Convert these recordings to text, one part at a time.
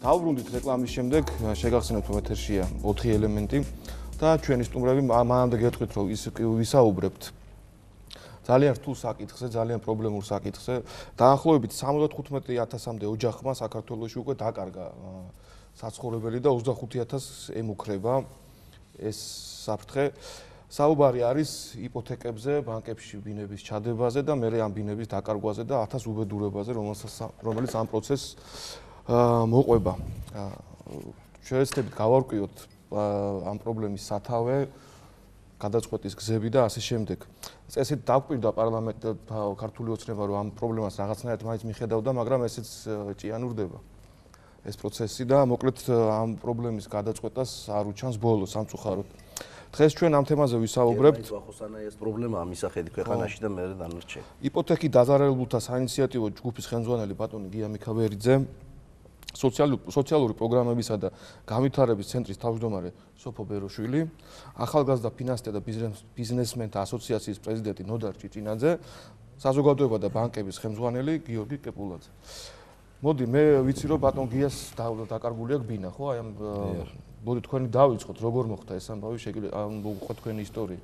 დავბრუნდით რეკლამის შემდეგ, შეგახსენებთ რომ ეთერშია 4 ელემენტი და ჩვენი სტუმრები მანამდე გეტყვით რომ ვისაუბრებთ ძალიან რთულ საკითხზე, ძალიან პრობლემურ საკითხზე. დაახლოებით 75,000-მდე ოჯახმა საქართველოში უკვე დაკარგა საცხოვრებელი და 25,000 ემუქრება ეს საფრთხე. საუბარი არის იპოთეკებზე, ბანკებში ბინების ჩადებაზე და მერე ამ ბინების დაკარგვაზე და 1000 უბედურებაზე, რომელიც ამ პროცესს მოყვება. შევეცდებით გავარკვიოთ ამ პრობლემის სათავე, გადაწყვეტის გზები და ასე შემდეგ. წესით დაგვირდა პარლამენტი ქართული ოცნება რომ ამ პრობლემას რაღაცნაირად მაინც მიხედავდა, მაგრამ ესეც ჭიანურდება ეს პროცესი და მოკლედ ამ პრობლემის გადაწყვეტას არ უჩანს ბოლოს სამწუხაროდ. დღეს ჩვენ ამ თემაზე ვისაუბრებთ. ვახოსანა ეს პრობლემა ამისახედი ქვეყანაში და მერე დანარჩენ. იპოთეკით დაზარალებულთა საინიციატივო ჯგუფის ხელმძღვანელი ბატონი გია მიქავერიძე, სოციალური პროგრამებისა და განვითარების ცენტრის თავმჯდომარე სოფო ბეროშვილი, ახალგაზრდა ფინანსთა და ბიზნესმენთა ასოციაციის პრეზიდენტი ნოდარ ჭიჭინაძე, საზოგადოება და ბანკების ხელმძღვანელი გიორგი კეპულაძე. მოდი მე ვიცი რომ ბატონ გიას დაკარგული აქვს ბინა, ხო? აი ამ მოდი თქვენი დავიწყოთ, როგორ მოხდა ეს ამბავი, შეგიძლიათ მოგვიყვეთ თქვენი ისტორია.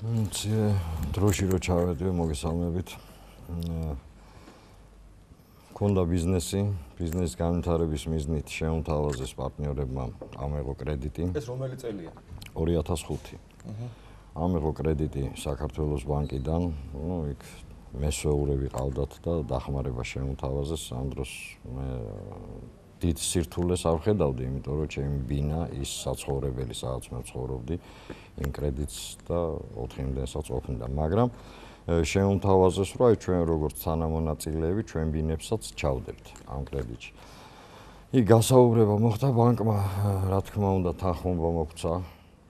დროში რო ჩავედი, მოგესალმებით. ქონდა ბიზნესის განვითარების მიზნით შეუმთავაზეს პარტნიორებმა ამეღო კრედიტი. ეს რომელი წელია? 2005. ამეღო კრედიტი საქართველოს ბანკიდან, იქ მესვეური ვიყავდათ და დახმარება შეუმთავაზეს. ამ დროს მე დიდ სირთულეს არ ხედავდი, იმიტომ რომ ჩემი ბინა ის საცხოვრებელი, სადაც მე ვცხოვრობდი, იმ კრედიტს და 4-მდესაც ყოფნიდა, მაგრამ შეუმთავაზეს, რომ აი ჩვენ როგორც თანამონაწილეები ჩვენ ბინებსაც ჩავდებთ ამ კრედიტში. იქ გასაუბრება მოხდა ბანკმა, რა თქმა უნდა, თანხმობა მოგვცა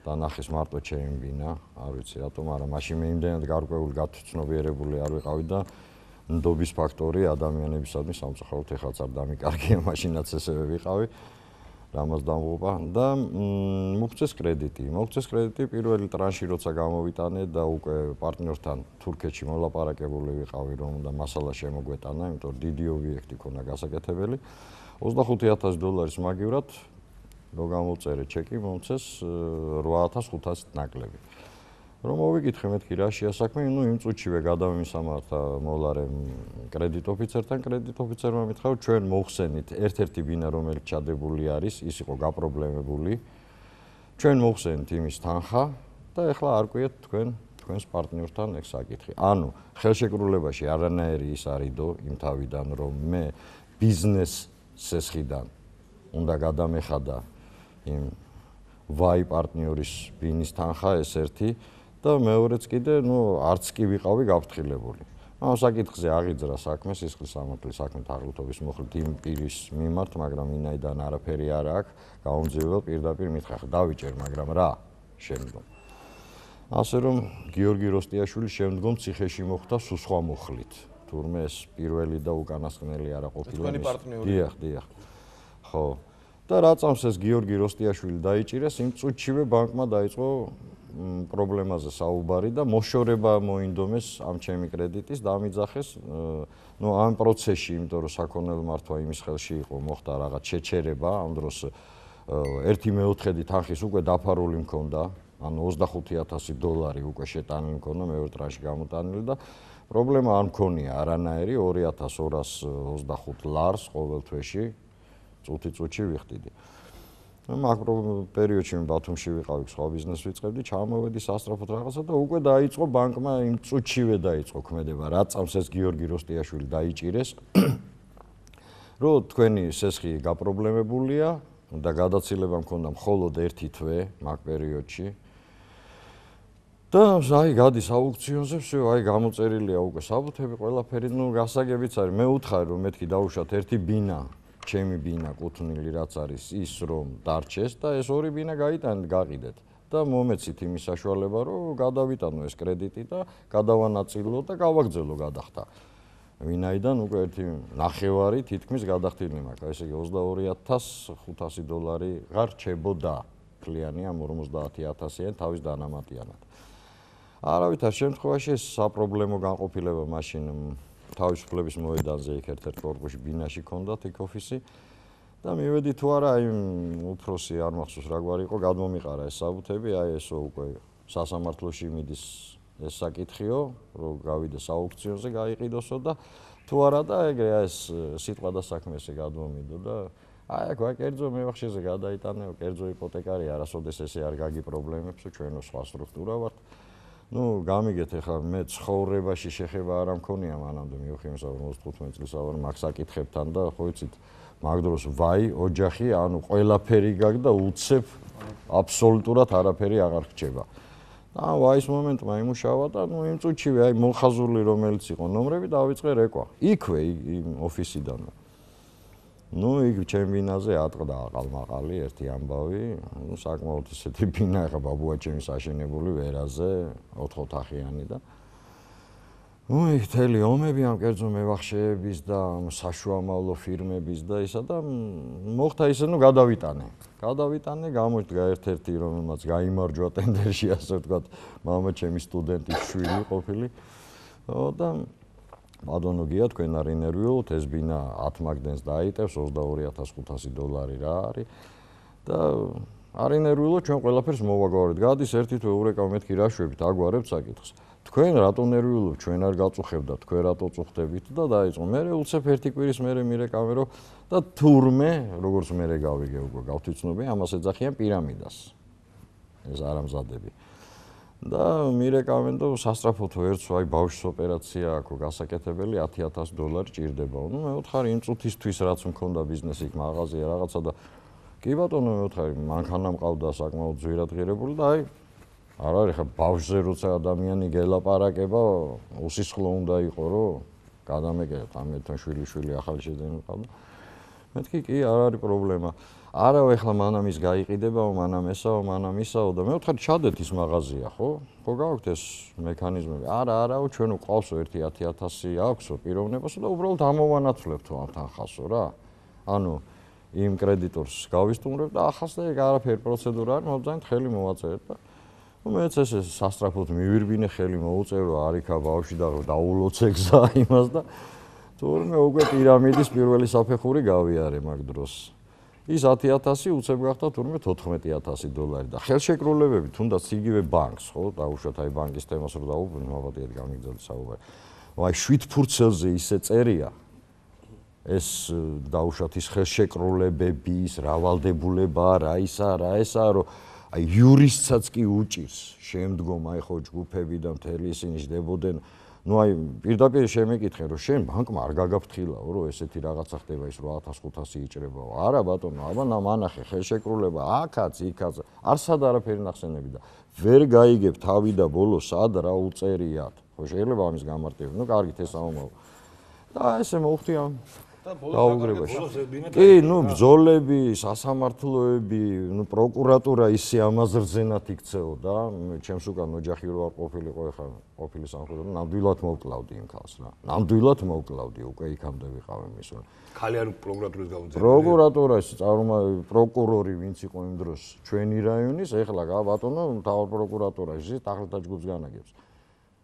და ნახეს მარტო ჩემი ბინა, არ ვიცი რატომ, მაგრამ მაშინ მე იმდენად გარკვეული გაცნობიერებული არ ვიყავი და ნდობის ფაქტორი ადამიანებისადმი სამწუხაროდ ეხლაც არ დამიკარგია, მაშინაც ესევე ვიყავი. რამაც დამღუპა და მოგწეს კრედიტი, პირველი ტრანში როცა გამოვიტანე და უკვე პარტნიორთან თურქეთში მოლაპარაკებული ვიყავი რომ და მასალა შემოგვეტანა, იმიტომ რომ დიდი ობიექტი ქონა გასაკეთებელი. $25,000 მაგივრად რო გამოვწერე ჩეკი, მომწეს 8,500 ნაკლები. რომ მოვიკითხე მეთქი რა შეასაქმე, იმ წუთშივე გადავიმისამართა მოლარემ კრედიტ ოფიცერმა მითხრა რომ ჩვენ მოხსენით ერთ-ერთი ბინა რომელიც ჩადებული არის, ის იყო გაპრობლემებული. ჩვენ მოხსენით იმის თანხა და ეხლა არ ყვიეთ თქვენს პარტნიორთან ეგ საკითხი. ანუ ხელშეკრულებაში არანაირი ის არიდო იმ თავიდან რომ მე ბიზნეს სესხიდან უნდა გადამეხადა იმ ვაი პარტნიორის ბინის თანხა ეს ერთი და მეორეც კიდე, არც კი ვიყავი გაფრთხილებული. ამ საკითხზე აღიძრა საქმე, სისხლის სამართლის საქმე თაღლითობის მოხდით იმ პირის მიმართ, მაგრამ ვინაიდან არაფერი არ აქვს, გაუმძიებელ პირდაპირ მითხრა, დავიჭერ, მაგრამ რა შემდგომ. ასე რომ გიორგი როსტიაშვილის შემდგომ ციხეში მოხვდა სხვა მუხლით. თურმე ეს პირველი და უკანასკნელი არა ყოფილა. თქვენი პარტნიორი. დიახ. ხო. და რა წამს ეს გიორგი როსტიაშვილი დაიჭირეს, იმ წუთშივე ბანკმა დაიწყო პრობლემაზე საუბარი და მოშორება მოინდომეს ამ ჩემი კრედიტის და ამიძახეს ამ პროცესში, იმიტომ რომ საქონელ მართვა იმის ხელში იყო, მოხდა რაღაც შეჩერება, ამ დროს $1/4 თანხის უკვე დაფარული მქონდა, ანუ $25,000 უკვე შეტანილი მქონდა, მეორე ტრანში გამოტანილი და პრობლემა არ მქონია არანაირი, $2,225 ლარს ყოველ თვეში წუთი ვიხდიდი. მაგ პერიოდში მე ბათუმში ვიყავი, სხვა ბიზნესს ვიწყებდი, ჩამოვედი სასწრაფოდ რაღაცა და უკვე დაიწყო ბანკმა იმ წუთშივე დაიწყო ქმედება, რა წამს ეს გიორგი როსტიაშვილი დაიჭირეს, რომ თქვენი სესხი გაპრობლემებულია და გადაცილება მქონდა მხოლოდ 1 თვე მაგ პერიოდში. და აი გადის აუქციონზე, აი გამოწერილია უკვე საბუთები, ყველაფერი, გასაგებიც არის. მე ვუთხარი რომ მეთქი დაუშვათ ერთი ბინა ჩემი ბინა კუთვნილი რაც არის ის რომ დარჩეს და ეს ორი ბინა გაიტანეთ გაყიდეთ და მომეცით იმის საშუალება რომ გადავიტანო ეს კრედიტი და გადავანაწილო და გავაგრძელო გადახდა. ვინაიდან უკვე $1.5 თითქმის გადახდილი მაქვს, ესე იგი $22,500 ღარ რჩებოდა კლიანი ამ 50,000-იან თავის დანამატიანად. არავითარ შემთხვევაში ეს საპრობლემო განყოფილება მაშინ თავისუფლების მოედანზე იქ ერთ-ერთ კორპუსში ბინაში ქონდათ იქ ოფისი და მივედი თუ არა იმ უფროსი არ მახსოვს რა გვარი იყო გადმომიყარა ეს საბუთები, აი ესო უკვე სასამართლოში მიდის ეს საკითხიო, რომ გავიდეს აუქციონზე, გაიყიდოსო და თუ არა და ეგრე ეს სიტყვა და საქმე ესე გადმომიდო და აი აქ კერძო მევახშეზე გადაიტანეო, კერძო იპოთეკარი არასოდეს ესე არ გაგი პრობლემებსო, ჩვენო სხვა სტრუქტურა ვართ. ნუ გამიგეთ ახლა მე ცხოვრებაში შეხება არ მქონია მანამდე მივხვდი 55 წლის ავარ მაგ საკითხებთან და ხო იცით მაგ დროს ვაი ოჯახი ანუ ყველაფერი გაქვს და უცებ აბსოლუტურად არაფერი აღარ ხდება. და ვაის მომენტმა იმუშავა და ნუ იმ წუთშივე აი მოხაზული რომელიც იყო ნომრები დავიწყე რეკვა. იქვე იმ ოფისიდან. ნუ იქ ჩემ ბინაზე ატყდა აყალმაყალი ერთი ამბავი, ნუ საკმაოდ ისეთი ბინა ხა ბაბუა ჩემის აშენებული ვერაზე 4 ოთახიანი და ნუ იქ თელი ომები ამ კერძო მევახშეების და საშუამავლო ფირმების და ისა და მოხდა ისე ნუ გადავიტანე გამოდგა ერთ-ერთი რომელმაც გაიმარჯვა ტენდერში ასე ვთქვათ მამა ჩემი სტუდენტის შვილი ყოფილი და ბატონო გია თქვენ არ ინერვიულობთ ეს ბინა 10 მაგდენს დაიტევს $22,500 რა არის და არ ინერვიულობთ ჩვენ ყველაფერს მოვაგვარებთ გადის ერთი თუ ევრეკა მეთქი რა შვებით აგვარებთ საკითხს თქვენ რატო ნერვიულობთ ჩვენ არ გაწუხებდა თქვენ რატო წუხდებით და დაიწყო მე უცებ ერთი კვირის მე მირეკავერო და თურმე როგორც მე გავიგე უკვე გავთვითცნობი ამას ეძახიან პირამიდას ეს არამზადები და მირეკავენ და სასტრაფოთო ერთს აი ბავშვის ოპერაცია აქვს გასაკეთებელი $10,000 ჭირდება. ნუ მე ვთხარი იმ წუთისთვის რაც მქონდა ბიზნესი იქ მაღაზია რაღაცა და კი ბატონო მე ვთხარი მანქანა მყავდა საკმაოდ ძვირადღირებული და აი არ არის ხა ბავშვზე როცა ადამიანი გელაპარაკება უსისხლო უნდა იყო რომ გადამეკეთო ამეთონ შვილი ახალი შეძენი მყავდა. მეთქი კი არ არის პრობლემა. არა ეხლა მანამ ის გაიყიდებაო, მანამ ესაო, მანამ ისაო და მე ვთხარ ჩადეთ ის მაღაზია, ხო? ხო გაქვთ ეს მექანიზმები? არაო, ჩვენ უყავსო ერთი 10,000 აქვსო პიროვნებასო და უბრალოდ ამოვანაცვლებთო ამ თანხასო რა. ანუ იმ კრედიტორს გავისტუმრებ და ახალს და ეგ არაფერი პროცედურა არის, მობძანით ხელი მოვაწერეთ და მეც ესე სასტრაფოდ მივირბინე ხელი მოუწერო არიქა ბავშვი და დაულოცე გზა იმას და თურმე უკვე პირამიდის პირველი საფეხური გავიარე მაგ დროს. ის 10,000 უცებ გახდა თურმე $14,000 და ხელშეკრულებები თუნდაც იგივე ბანკს ხო დაუშვათ აი ბანკის თემას რო დაუბრუნდით მოვადიეთ გამიგზავნა საუბარი. აი 7 ფურცელზე ისე წერია ეს დაუშვათ ის ხელშეკრულებები ის რავალდებულება რა ისა რომ აი იურისტსაც კი უჭირს შემდგომ აი ხო ჯგუფები და მთელი ისინი ჯდებოდნენ ნუ აი პირდაპირ შემეკითხე რომ შენ ბანკმა არ გაგაფრთხილაო რომ ესეთი რაღაცა ხდება ის 8,500 იჭრებაო არა ბატონო აბა ნამანახე ხელშეკრულება აქაც იქაც არსად არაფერი ნახსენები და ვერ გაიგებ თავი და ბოლო სად რა უწერიათ ხო შეიძლება ამის გამარტივება ნუ კარგით ეს ამომავა და ესე მოვხდი ამ დაუგრებაში. კი, ნუ ბრძოლები, სასამართლოები, ნუ პროკურატურა ისე ამაზე რძენად იქცეო და ჩემს უკან ოჯახი რო არ ყოფილიყო ეხლა ყოფილი სამხედრო ნამდვილად მოვკლავდი იმ ქალს რა. ნამდვილად მოვკლავდი უკვე იქამდე ვიყავი მის. ხალი არ პროკურატურის გაუნწევია. პროკურატურაში პროკურორი ვინც იყო იმ დროს ჩვენი რაიონის ეხლა ბატონო მთავარ პროკურატურაში ტახტთა ჯგუფს განაგებს.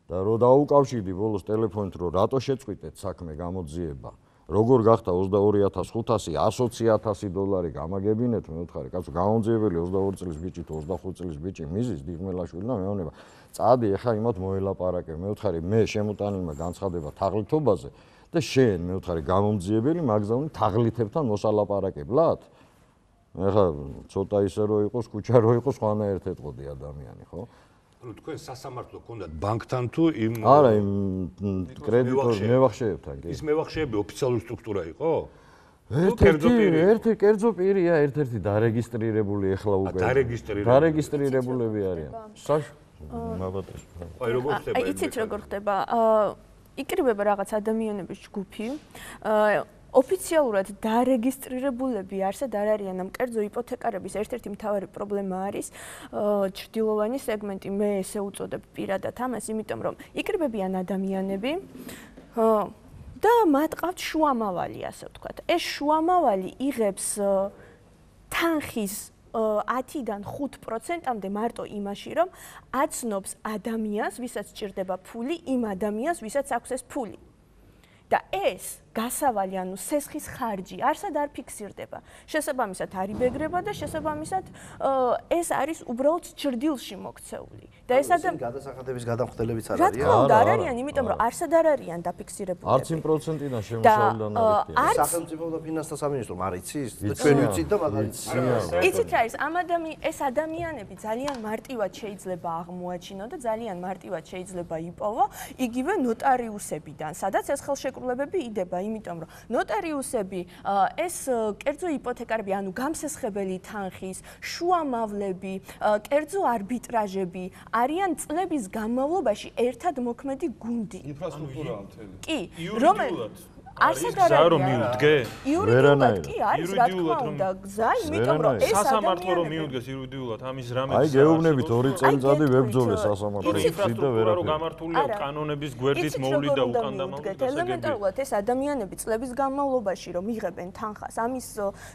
და რო დაუკავშირდი ბოლოს ტელეფონით რომ რატო შეწყვიტეთ საქმე გამოძიება როგორ გახდა 22,500 $120,000 გამაგებინეთ მე ვთხარი კაცო გამომძიებელი 22 წლის ბიჭი თუ 25 წლის ბიჭი მიზის დიღმელაშვილი და მეუბნება წადი ეხა იმათ მოელაპარაკე მე ვთხარი მე შემოტანილმა განცხადება თაღლითობაზე და შენ მე ვთხარი გამომძიებელი მაგზავნი თაღლითებთან მოსალაპარაკებლად ეხა ცოტა ისე რო იყოს კუჩა რო იყოს ხანაერთ ეტყოდი ადამიანი ხო ანუ თქვენ სასამართლო გქონდათ ბანკთან თუ იმ არა იმ კრედიტორ მევახშეებთან კი ის მევახშეები ოფიციალური სტრუქტურა იყო? ერთი კერძო პირია ერთ-ერთი დარეგისტრირებული ეხლა უკვე დარეგისტრირებულები არიან მაბატონო აი როგორ ხდება აი იცით როგორ ხდება იკრიბება რაღაც ადამიანების ჯგუფი ოფიციალურად დარეგისტრირებულები არსად არ არიან ამ კერძო იპოთეკარების ერთ-ერთი მთავარი პრობლემა არის ჩრდილოვანი სეგმენტი მე ესე უწოდებ პირადად ამას იმიტომ რომ იკრიბებიან ადამიანები და მათ ყავთ შუამავალი ასე ვთქვათ ეს შუამავალი იღებს თანხის 10-დან 5%-მდე მარტო იმაში რომ აცნობს ადამიანს ვისაც სჭირდება ფული იმ ადამიანს ვისაც აქვს ეს ფული და ეს გასავალი, ანუ სესხის ხარჯი არსად არ ფიქსირდება. შესაბამისად არ იბეგრება და შესაბამისად ეს არის უბრალოდ ჭრდილში მოქცეული. და ეს გადასახადების გადამხდელებიც არ რა არიან. თქმა უნდა, არ არიან, იმიტომ რომ არსად არ არიან დაფიქსირებულები. არც იმ პროცენტიდან შემოსავლიდან არ არის. სახელმწიფო და ფინანსთა სამინისტრომ არ იცის? ჩვენ ვიცით და მაგ არ იცის. იცით რა არის, ეს ადამიანები ძალიან მარტივად შეიძლება აღმოაჩინონ და ძალიან მარტივად შეიძლება იპოვო იგივე ნოტარიუსებიდან, სადაც ეს ხელშეკრულებები იდება, იმიტომ რომ ნოტარიუსები ეს კერძო იპოთეკარები, ანუ გამსესხებელი თანხის, შუამავლები, კერძო არბიტრაჟები არიან წლების განმავლობაში ერთად მოქმედი გუნდი. ინფრასტრუქტურაა მთელი. კი, რომელიც არსად არ გზა რომ მიუდგე? იურიდიულად კი არის, რა თქმა უნდა, გზა, იმიტომ რომ ეს სასამართლო რომ მიუდგეს იურიდიულად, ამის რამე აი გეუბნებით 2 წელიწადი ვებძოლე სასამართლო ინფრასტრუქტურა რო გამართულია კანონების გვერდით მოვლიდა უკან და მოვლიდა. ელემენტარულად ეს ადამიანები წლების განმავლობაში რომ იღებენ თანხას, ამის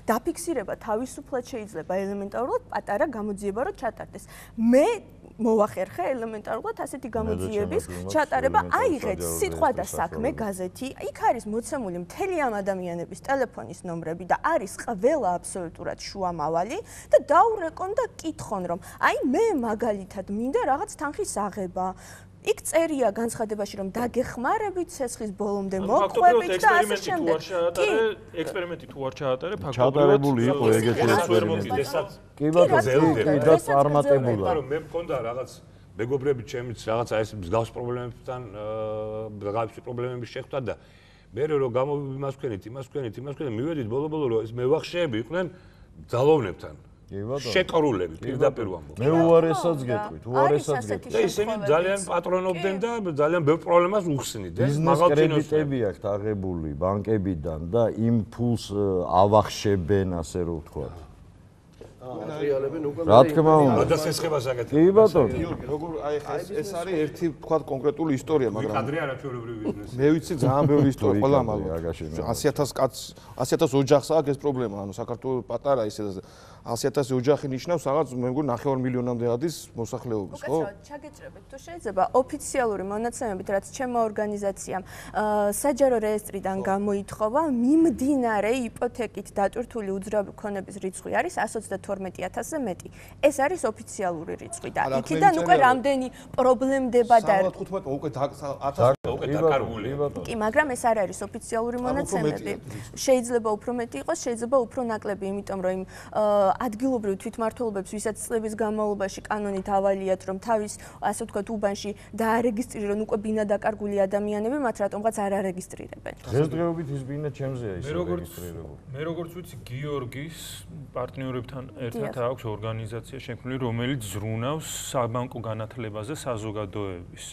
დაფიქსირება თავისუფლად შეიძლება ელემენტარულად პატარა გამოძიება რო ჩატარდეს. მე მოვახერხე ელემენტარულად ასეთი გამოძიების ჩატარება, აიღეთ სიტყვა და საქმე გაზეთი, იქ არის მოცემული მთელი ამ ადამიანების ტელეფონის ნომრები და არის ყველა აბსოლუტურად შუამავალი და დაურეკონ და კითხონ რომ აი მე მაგალითად მინდა რაღაც თანხის აღება. იქ წერია განცხადებაში რომ დაგეხმარებით სესხის ბოლომდე მოყვებით და ასე შემდეგ. ექსპერიმენტი თუ არ ჩაატარე, ჩატარებული იყო ეგეთი ექსპერიმენტი. კი ბატონო, და წარმატებულა. მე მქონდა რაღაც მეგობრები ჩემიც რაღაცა ეს მსგავს პრობლემებთან რაღაცა პრობლემების შეხვდა და მე რო იმას ვქენით, მივედით ბოლო-ბოლო რომ ეს მევახშეები იყვნენ ძალოვნებთან. შეკრულები პირდაპირ ვამბობ. მე უარესაც გეტყვით, უარესაც გეტყვით. და ისინი ძალიან პატრონობდნენ და ძალიან ბევრ პრობლემას უხსნიდნენ. ბიზნეს კრედიტები აქვთ აღებული ბანკებიდან და იმ ფულს ავახშებენ, ასე რომ ვთქვათ. რა თქმა უნდა. გადასესხებას აკეთებენ. კი ბატონო. გიორგი, როგორ აი ეს არის ერთი თქვა კონკრეტული ისტორია, მაგრამ კადრი არაჩვეულებრივი ბიზნესი. მე ვიცი ძალიან ბევრი ისტორია ყველა მაგრამ 100,000 კაცს 100,000 ოჯახს აქვს ეს პრობლემა, ანუ საქართველოს პატარა ისე 100,000 ოჯახი ნიშნავს რაღაც მე მგონი 9 მილიონამდე ადის მოსახლეობის, ხო? უკეთ ჩაგეჭრებით თუ შეიძლება ოფიციალური მონაცემებით, რაც ჩემო ორგანიზაციამ საჯარო რეესტრიდან გამოითხოვა, მიმდინარე იპოთეკით დატვირთული უძრავი ქონების რიცხვი არის 122,000-ზე მეტი. ეს არის ოფიციალური რიცხვი და იქიდან უკვე რამდენი პრობლემდება და 15 უკვე 1000 უკვე დაკარგული. კი, მაგრამ ეს არ არის ოფიციალური მონაცემები. შეიძლება უფრო მეტი იყოს, შეიძლება უფრო ნაკლები, იმიტომ რომ იმ ადგილობრივ თვითმმართველობებს, ვისაც წლების განმავლობაში კანონით ავალიათ, რომ თავის, ასე ვთქვათ, უბანში დაარეგისტრირონ უკვე ბინა დაკარგული ადამიანები, მათ რატომღაც არ არეგისტრირებენ. დღესდღეობით ის ბინა ჩემზეა ის რეგისტრირებული. მე როგორც ვიცი, გიორგის პარტნიორებთან ერთად აქვს ორგანიზაცია შექმნილი, რომელიც ზრუნავს საბანკო განათლებაზე საზოგადოების.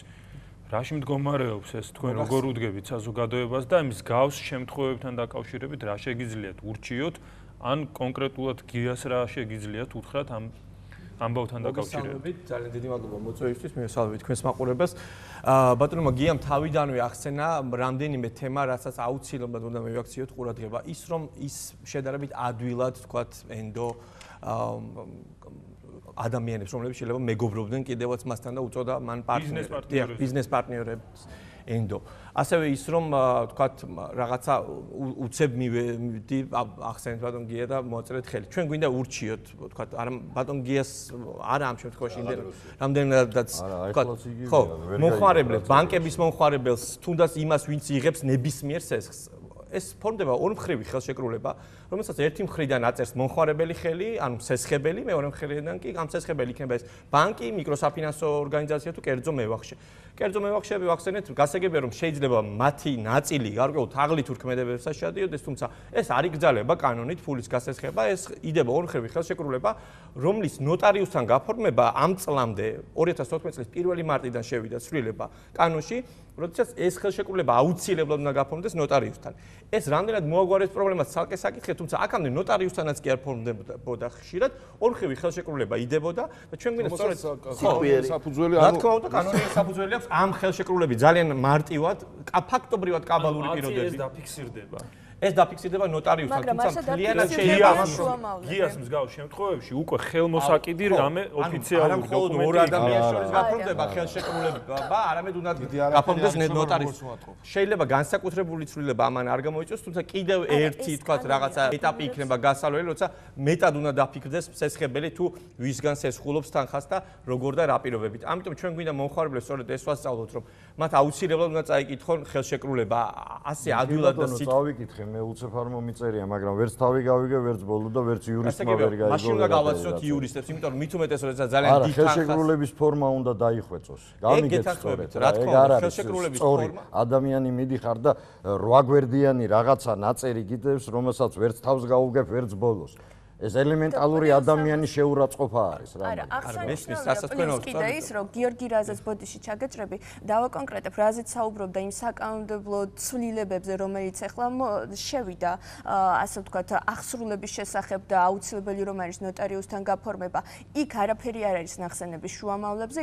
რაში მდგომარეობს ეს თქვენ როგორ უდგებით საზოგადოებას და იმის გავს შემთხვევებთან დაკავშირებით რა შეგიძლიათ ურჩიოთ ან კონკრეტულად გიას რა შეგიძლიათ უთხრათ ამ ამბავთან დაკავშირებით. ძალიან დიდი მადლობა მოწვევისთვის, მივესალმებით თქვენს მაყურებელს. ბატონო გიამ თავიდანვე ახსენა რამდენიმე თემა, რასაც აუცილებლად უნდა მივაქციოთ ყურადღება. ის რომ ის შედარებით ადვილად თქვათ ენდო ადამიანებს, რომლებიც შეიძლება მეგობრობდნენ კიდევაც მასთან და უწოდა მან პარტნიორებს, ბიზნეს პარტნიორებს ენდო. ასევე ის რომ თქვათ რაღაცა უცებ მივედი ახსენეთ ბატონ გია და მოაწერეთ ხელი. ჩვენ გვინდა ურჩიოთ თქვათ არა ბატონ გიას არა ამ შემთხვევაში რამდენადაც თქვათ ხო მომხმარებლებს ბანკების მომხმარებელს თუნდაც იმას ვინც იღებს ნებისმიერ სესხს ეს ფორმდება ორმხრივი ხელშეკრულება, რომელსაც ერთი მხრიდან აწერს მომხმარებელი ხელი, ანუ სესხებელი, მეორე მხრიდან კი გამსესხებელი იქნება ეს ბანკი, მიკროსაფინანსო ორგანიზაცია თუ კერძო მევახშე. კერძო მევახშეები ვახსენეთ, გასაგებია რომ შეიძლება მათი ნაწილი გარკვეულ თაღლით ურქმედებებსაც შედიოდეს, თუმცა ეს არ იგრძალება კანონით ფულის გასესხება, ეს იდება ორმხრივი ხელშეკრულება, რომლის ნოტარიუსთან გაფორმება ამ წლამდე 2014 წლის 1 მარტიდან შევიდა ცვლილება კანონში, როდესაც ეს ხელშეკრულება აუცილებლად უნდა გაფორმდეს ნოტარიუსთან. ეს რამდენად მოაგვარებს პრობლემას ცალკე საკითხი, თუმცა აქამდე ნოტარიუსთანაც კი არ ფორმდებოდა ხშირად, ორმხრივი ხელშეკრულება იდებოდა და ჩვენ გვინდა სწორედ საფუძველი რა თქმა უნდა კანონიერი საფუძველი აქვს ამ ხელშეკრულების ძალიან მარტივად, ფაქტობრივად კაბალური პირობებით დაფიქსირდება. ეს დაფიქსირდება ნოტარიუსთან, თუმცა მთლიანად შეიძლება გიას მსგავს შემთხვევებში უკვე ხელმოსაკიდი რამე ოფიციალური დოკუმენტი ორ ადამიანს შორის გაფორმდება ხელშეკრულება, არამედ უნდა გაფორმდეს ნოტარიუსი. შეიძლება განსაკუთრებული ცვლილება ამან არ გამოიწვიოს, თუმცა კიდევ ერთი თქვა რაღაცა ეტაპი იქნება გასავლელი, როცა მეტად უნდა დაფიქრდეს სესხებელი თუ ვისგან სესხულობს თანხას და როგორ და რა პირობებით. ამიტომ ჩვენ გვინდა მომხმარებლებს სწორედ ეს ვასწავლოთ, რომ მათ აუცილებლად უნდა წაიკითხონ ხელშეკრულება ასე ადვილად და წავიკითხე, მე უცებ არ მომიწერია, მაგრამ ვერც თავი გავიგე, ვერც ბოლო და ვერც იურისტმა ვერ გაიგო. მაშინ უნდა გავაცნოთ იურისტებს, იმიტომ რომ მით უმეტეს როდესაც ძალიან დიდ თანხას ხელშეკრულების ფორმა უნდა დაიხვეწოს. გამიგეთ სწორედ. ეგ არ არის სწორი. ადამიანი მიდიხარ და 8 გვერდიანი რაღაცა ნაწერი გიდევს, რომელსაც ვერც თავს გაუგებ, ვერც ბოლოს. ეს ელემენტალური ადამიანის შეურაცხყოფა არის რა. არა, ახსენე კიდე ის, რომ გიორგი რაზეც ბოდიში ჩაგეჭრები, დავაკონკრეტებ, რაზეც საუბრობდა იმ საკანონმდებლო ცვლილებებზე, რომელიც ახლა შევიდა, ასე ვთქვათ, აღსრულების შესახებ და აუცილებელი რომ არის ნოტარიუსთან გაფორმება. იქ არაფერი არ არის ნახსენები შუამავლებზე,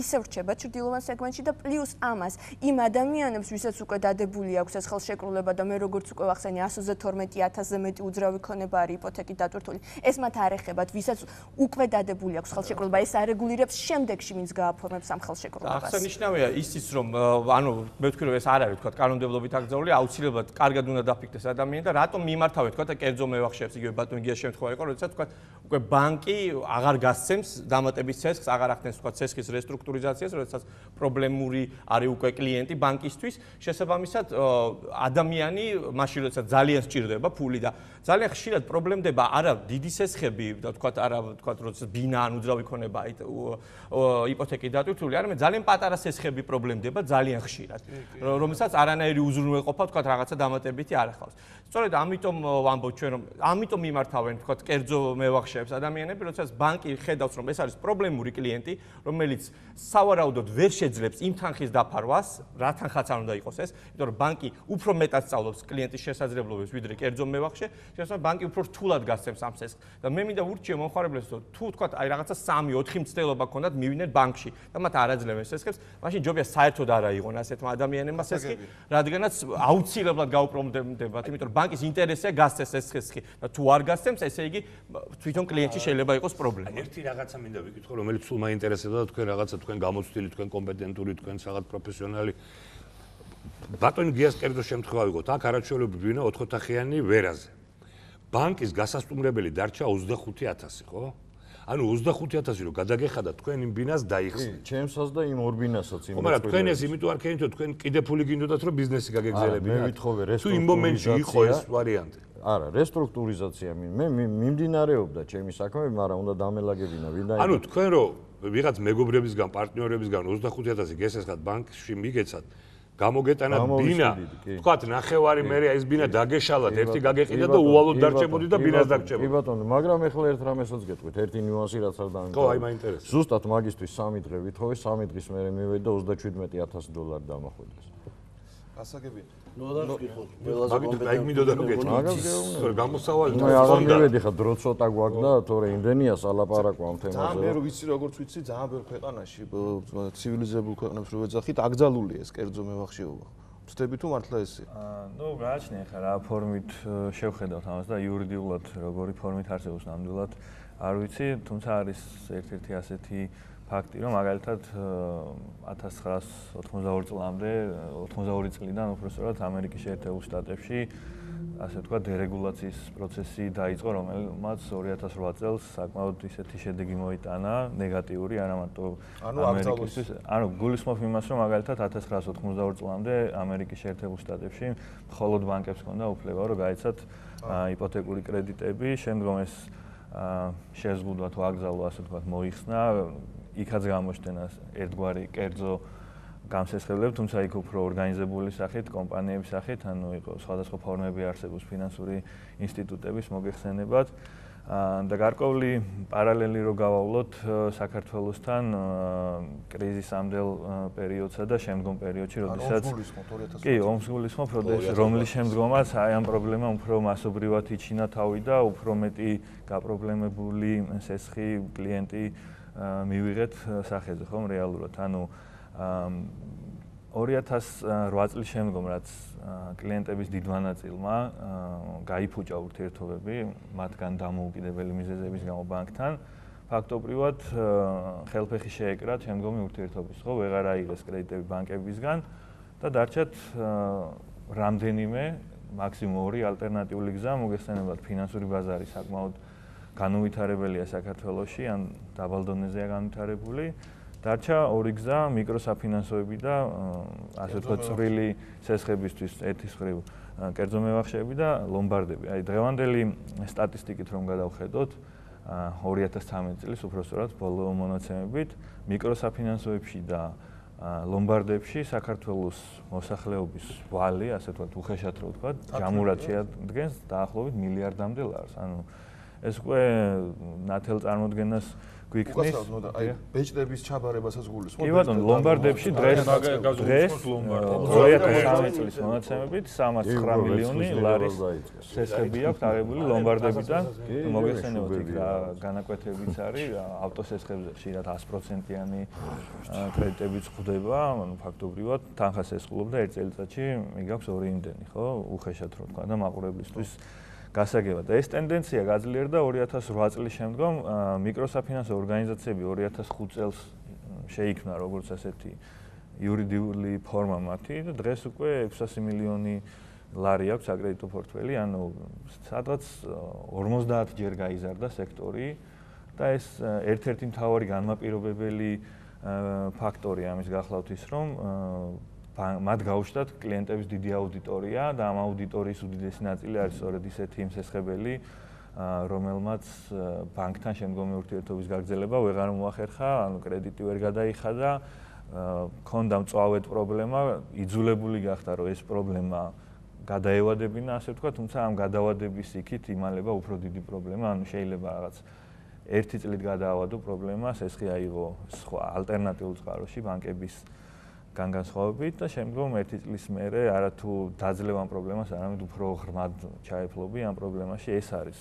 ისევ რჩება ჩრდილოვან სეგმენტში და პლუს ამას იმ ადამიანებს, ვისაც უკვე დადებული აქვს ეს ხელშეკრულება და მე როგორც უკვე ვახსენე 112,000-ზე მეტი უძრავი ქონება არის იპოთეკით დატვირთული. ეს მათ არ ეხებათ, ვისაც უკვე დადებული აქვს ხელშეკრულება, ეს არეგულირებს შემდეგში ვინც გააფორმებს ამ ხელშეკრულებას. აღსანიშნავია ისიც, რომ ანუ მე ვთქვი, რომ ეს არ არის, თქვა, კანონმდებლობით აკრძალული, აუცილებლად კარგად უნდა დაფიქრდეს ადამიანი და რატომ მიმართავენ, თქვა, და კერძო მევახშეებს, იგივე ბატონ გიას შემთხვევა იყო, როდესაც თქვა, უკვე ბანკი აღარ გასცემს დამატების ცესხს, აღარ ახდენს, თქვა, ცესხის რესტრუქტურიზაციას, როდესაც პრობლემური არის უკვე კლიენტი ბანკისთვის, შესაბამისად ადამიანი მაშინ როდესაც ძალიან სჭირდება ფული და ძალიან ხშირად პრობლემდება არა დიდი სესხები და თქვა არა თქვა როდესაც ბინა ან უძრავი ქონება იპოთეკით დატვირთული, არამედ ძალიან პატარა სესხები პრობლემდება ძალიან ხშირად, რომელსაც არანაირი უზრუნველყოფა თქვა რაღაცა დამატებითი არ ახავს. სწორედ ამიტომ ვამბობ ჩვენ რომ ამიტომ მიმართავენ თქვა კერძო მევახშეებს ადამიანები, როდესაც ბანკი ხედავს რომ ეს არის პრობლემური კლიენტი, რომელიც სავარაუდოდ ვერ შეძლებს იმ თანხის დაფარვას, რა თანხაც არ უნდა იყოს ეს, იმიტომ რომ ბანკი უფრო მეტად სწავლობს კლიენტის შესაძლებლობებს ვიდრე კერძო მევახშე, შესაძლოა ბანკი უფრო რთულად გასცემს ამ სესხს. და მე მინდა ურჩიე მომხმარებლებს, რომ თუ თქვა აი რაღაცა 3-4 მცდელობა ქონდათ, მივიდნენ ბანკში და მათ არაძლევენ სესხებს, მაშინ ჯობია საერთოდ არ აიღონ ასეთმა ადამიანებმა სესხი, რადგანაც აუცილებლად გაუპრობლემდებათ, იმიტომ რომ ბანკის ინტერესია გასცეს ეს სესხი და თუ არ გასცემს, ესე იგი თვითონ კლიენტში შეიძლება იყოს პრობლემა. ერთი რაღაცა მინდა ვიკითხო, რომელიც სულ მაინტერესებდა თქვენ რაღაცა თქვენ გამოცდილი, თქვენ კომპეტენტური, თქვენ რაღაც პროფესიონალი. ბატონ გიას კერძო შემთხვევა ვიღოთ, აქ არაჩვეულებრივ ვინა 4 ოთახიანი ვერაზე. ბანკის გასასტუმრებელი დარჩა 25,000, ხო? ანუ 25,000 რო გადაგეხადა თქვენ იმ ბინას დაიხსნით. ჩემსაც და იმ ორ ბინასაც იმ. მაგრამ თქვენ ეს იმიტომ არ ქენით, რომ თქვენ კიდე ფული გინდოდათ, რომ ბიზნესი გაგეგზელებინათ. მე ვითხოვე თუ იმ მომენტში იყო ეს ვარიანტი. არა, რესტრუქტურიზაცია მე მიმდინარეობდა ჩემი საქმე, მაგრამ უნდა დამელაგებინა ვინდა. ანუ თქვენ რო ვიღაც მეგობრებისგან, პარტნიორებისგან 25,000 გესესხათ ბანკში მიგეცათ, გამოგეტანათ ბინა, თქვათ ნახევარი მერე ეს ბინა დაგეშალათ, ერთი გაგეყიდა და უვალოდ დარჩებოდი და ბინას დაგჭებოდი. კი ბატონო, მაგრამ ეხლა ერთ რამესაც გეტყვით, ერთი ნიუანსი რაც არ დამიმტკიცე. ხო, აი მაინტერესებს. ზუსტად მაგისტვის 3 დღე ვითხოვე, 3 დღის მერე მივედი და $27,000 დამახვიდეს. გასაგებია. მაგით მინდოდა რომ გეტყვი. გამოსავალი და აღარ მივედი ხა დრო ცოტა გვაქვს და თორე იმდენია სალაპარაკო ამ თემაზე. ძალიან მე რო ვიცი როგორც ვიცი, ძალიან ბევრ ქვეყანაში ცივილიზებულ ქვეყნებს რო ვეძახით, აკრძალულია ეს კერძო მევახშეობა. ვწდები თუ მართლა ესე? ნუ გააჩნია ხა რა ფორმით შევხედავთ ამას და იურიდიულად როგორი ფორმით არსებობს ნამდვილად არ ვიცი, თუმცა არის ერთ-ერთი ასეთი ფაქტი, რომ მაგალითად 1982 წლამდე, 82 წლიდან უბრალოდ ამერიკის შეერთებულ შტატებში ასე ვთქვათ დერეგულაციის პროცესი დაიწყო, რომელმაც 2008 წელს საკმაოდ ისეთი შედეგი მოიტანა, ნეგატიური, არა მარტო ამერიკისთვის. ანუ გულისხმობ იმას, რომ მაგალითად 1982 წლამდე ამერიკის შეერთებულ შტატებში მხოლოდ ბანკებს ჰქონდა უფლება, რომ გაეცათ იპოთეკური კრედიტები, შემდგომ ეს შეზღუდვა თუ აკრძალვა, ასე ვთქვათ, მოიხსნა, იქაც გამოჩნდა ერთგვარი კერძო გამსესხებლები, თუმცა იქ უფრო ორგანიზებული სახით, კომპანიების სახით, ანუ იყო სხვადასხვა ფორმები არსებობს ფინანსური ინსტიტუტების მოგეხსენებათ. და გარკვეული პარალელი რო გავავლოთ საქართველოსთან კრიზისამდელ პერიოდსა და შემდგომ პერიოდში, როდესაც კი, ომს გულისხმობ, რომლის შემდგომაც აი ამ პრობლემა უფრო მასობრივად იჩინა თავი და უფრო მეტი გაპრობლემებული სესხი კლიენტი მივიღეთ სახეზე, ხომ რეალურად. ანუ 2008 წლის შემდგომ, რაც კლიენტების დიდმა ნაწილმა გაიფუჭა ურთიერთობები მათგან დამოუკიდებელი მიზეზების გამო ბანკთან. ფაქტობრივად ხელფეხი შეეკრა შემდგომი ურთიერთობის, ხო, ვეღარ აიღეს კრედიტები ბანკებისგან და დარჩათ რამდენიმე მაქსიმუმ 2 ალტერნატიული გზა მოგეხსენებათ ფინანსური ბაზარი საკმაოდ განუვითარებელია საქართველოში ან დაბალ დონეზეა განვითარებული. დარჩა 2 გზა მიკროსაფინანსოები და ასე ვთქვათ წვრილი სესხებისთვის ერთის მხრივ კერძო მევახშეები და ლომბარდები. აი დღევანდელი სტატისტიკით რომ გადავხედოთ 2013 წლის უпростоრად ბოლო მონაცემებით მიკროსაფინანსოებში და ლომბარდებში საქართველოს მოსახლეობის ვალი, ასე ვთქვათ, უხეშად რო ვთქვათ, ჯამურად შეადგენს დაახლოებით მილიარდამდე ლარს. ანუ ეს უკვე ნათელ წარმოდგენას გვიქნის. აი ბეჭდების ჩაბარებასაც გულისხმობ. კი ბატონო, ლომბარდებში დღეს 2013 წლის მონაცემებით 309 მილიონი ლარის სესხები აქვს აღებული ლომბარდებიდან. მოგეხსენებათ იქ რა განაკვეთებიც არის, ავტოსესხებზე ხშირად 100%-იანი კრედიტებიც ხვდება, ანუ ფაქტობრივად თანხას ესხულობ და 1 წელიწადში მიგაქვს 2 იმდენი, ხო? უხეშად რო თქვა და მაყურებლისთვის გასაგებად. ეს ტენდენცია გაძლიერდა 2008 წლის შემდგომ მიკროსაფინანსო ორგანიზაციები 2005 წელს შეიქმნა როგორც ასეთი იურიდიული ფორმა მათი და დღეს უკვე 600 მილიონი ლარი აქვს საკრედიტო პორტფელი, ანუ სადღაც 50 ჯერ გაიზარდა სექტორი და ეს ერთ-ერთი მთავარი განმაპირობებელი ფაქტორია ამის გახლავთ ის, რომ მათ გაუჩნდათ კლიენტების დიდი აუდიტორია და ამ აუდიტორიის უდიდესი ნაწილი არის სწორედ ისეთი მსესხებელი, რომელმაც ბანკთან შემდგომი ურთიერთობის გაგრძელება ვეღარ მოახერხა, ანუ კრედიტი ვერ გადაიხადა, ქონდა მწვავედ პრობლემა, იძულებული გახდა, რომ ეს პრობლემა გადაევადებინა, ასე ვთქვათ, თუმცა ამ გადავადების იქით იმალება უფრო დიდი პრობლემა, ანუ შეიძლება რაღაც 1 წლით გადაავადო პრობლემა, სესხი აიღო სხვა ალტერნატიულ წყაროში ბანკების განსხვავებით და შემდგომ 1 წლის მერე არათუ დაძლევ ამ პრობლემას, არამედ უფრო ღრმად ჩაეფლობი ამ პრობლემაში, ეს არის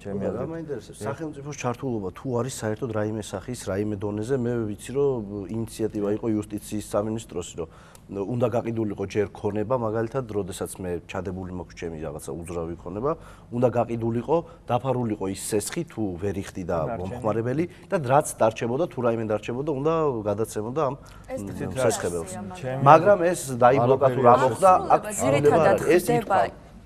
ჩემი აზრით. რა მაინტერესებს, სახელმწიფოს ჩართულობა თუ არის საერთოდ რაიმე სახის, რაიმე დონეზე, მე ვიცი რომ ინიციატივა იყო იუსტიციის სამინისტროს, რომ უნდა გაყიდულიყო ჯერ ქონება, მაგალითად, როდესაც მე ჩადებული მაქვს ჩემი რაღაცა უძრავი ქონება, უნდა გაყიდულიყო, დაფარულიყო ის სესხი თუ ვერ იხდი და მომხმარებელი და რაც დარჩებოდა, თუ რაიმე დარჩებოდა, უნდა გადაცემოდა ამ სესხებელს. მაგრამ ეს დაიბლოკა თუ რა მოხდა, აქ